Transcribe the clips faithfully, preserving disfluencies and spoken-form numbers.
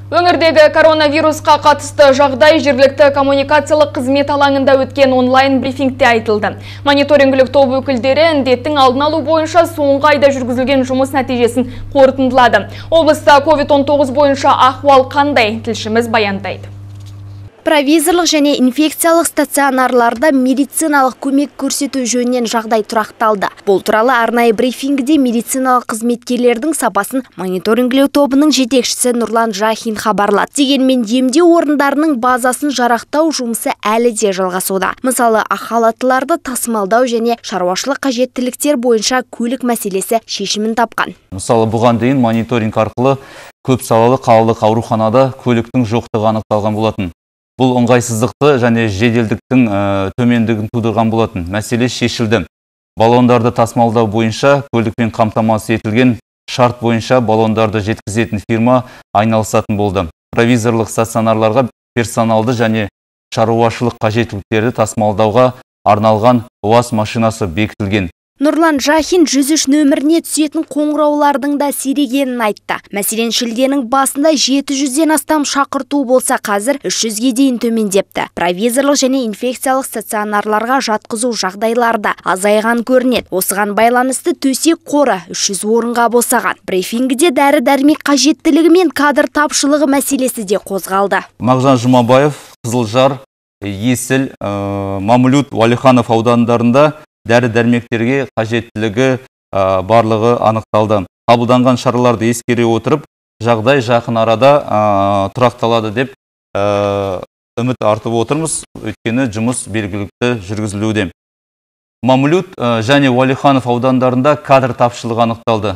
Өңірдегі коронавирусқа қатысты жағдай жергілікті коммуникациялық қызмет алаңында өткен онлайн брифингте айтылды. Мониторингілік топ өкілдері індеттің алдын алу бойынша соңғы айда жүргізілген жұмыс нәтижесін қорытындылады. Облыста ковид он тоғыз бойынша ахуал қандай? Тілшіміз баяндайды. Провизорлық және инфекциялық стационарларда медициналық көмек көрсету жөнінен жағдай тұрақталды. Бұл туралы арнайы брифингіде медициналық қызметкерлердің сапасын мониторингілеу тобының жетекшісі Нұрлан Жахин хабарлады. Дегенмен емдеу орындарының базасын жарақтау жұмысы әлі де жалғасуда. Мысалы, ақ халаттыларды тасымалдау және шаруашылық қажеттіліктер бойынша көлік мәселесі шешімін тапқан. Мысалы, бұған дейін мониторинг арқылы көп салалы қалалық ауруханада көліктің жоқтығы анықталған болатын. Бұл ыңғайсыздықты және жеделдіктің төмендігін тудырған болатын. Мәселе шешілді. Баллондарды тасымалдау бойынша көлікпен қамтамасыз етілген шарт бойынша баллондарды жеткізетін фирма айналысатын болды. Провизорлық стационарларға персоналды және шаруашылық қажеттіліктерді тасымалдауға арналған УАЗ машинасы бекітілген. Нұрлан Жахин жүз үш нөміріне түсетін қоңыраулардың да сирегенін айтты. Мәселен, шілденің басында жеті жүзден астам шақырту болса, қазір үш жүзге дейін төмендепті. Провизорлық және инфекциялық стационарларға жатқызу жағдайларда азайған көрінеді. Осыған байланысты төсек қоры үш жүз орынға босаған. Брифингіде дәрі-дәрмек қажеттілігі мен кадр тапшылығы мәселесі де қозғалды. Мағжан Жұмабаев, Қызылжар, Есіл, Мамлют, Уәлиханов аудандарында дәрі-дәрмектерге қажеттілігі барлығы анықталды. Қабылданған шараларды ескере отырып, жағдай жақын арада тұрақталады деп үміт артып отырмыз, өйткені жұмыс белгілікті жүргізілуде. Мамлют және Уәлиханов аудандарында кадр тапшылығы анықталды.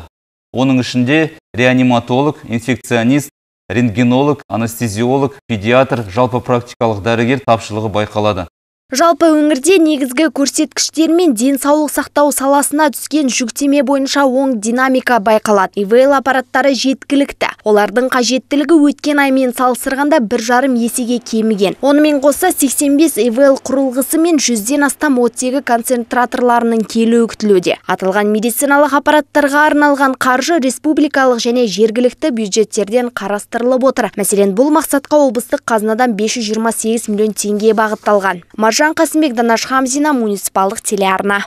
Оның ішінде реаниматолог, инфекционист, рентгенолог, анестезиолог, педиатр, жалпы практикалық дәрігер тапшылығы байқалады. Жалпы өңірде негізгі көрсеткіштер мен денсаулық сақтау саласына түскен жүктеме бойынша оң динамика байқалады. ИВЛ аппараттары жеткілікті. Олардың қажеттілігі өткен аймен салыстырғанда бір жарым есеге кеміген. Онымен қоса сексен бес ИВЛ құрылғысы мен жүзден астам оттегі концентраторларының келуі күтілуде. Аталған медициналық аппараттарға арналған қаржы республикалық және жергілікті бюджеттерден қарастырылып отыр. Мәселен, бұл мақсатқа облыстық қазынадан бес жүз жиырма сегіз миллион теңге бағытталған. Жан Қасымбек, Данаш Хамзина, муниципалдық телеарна.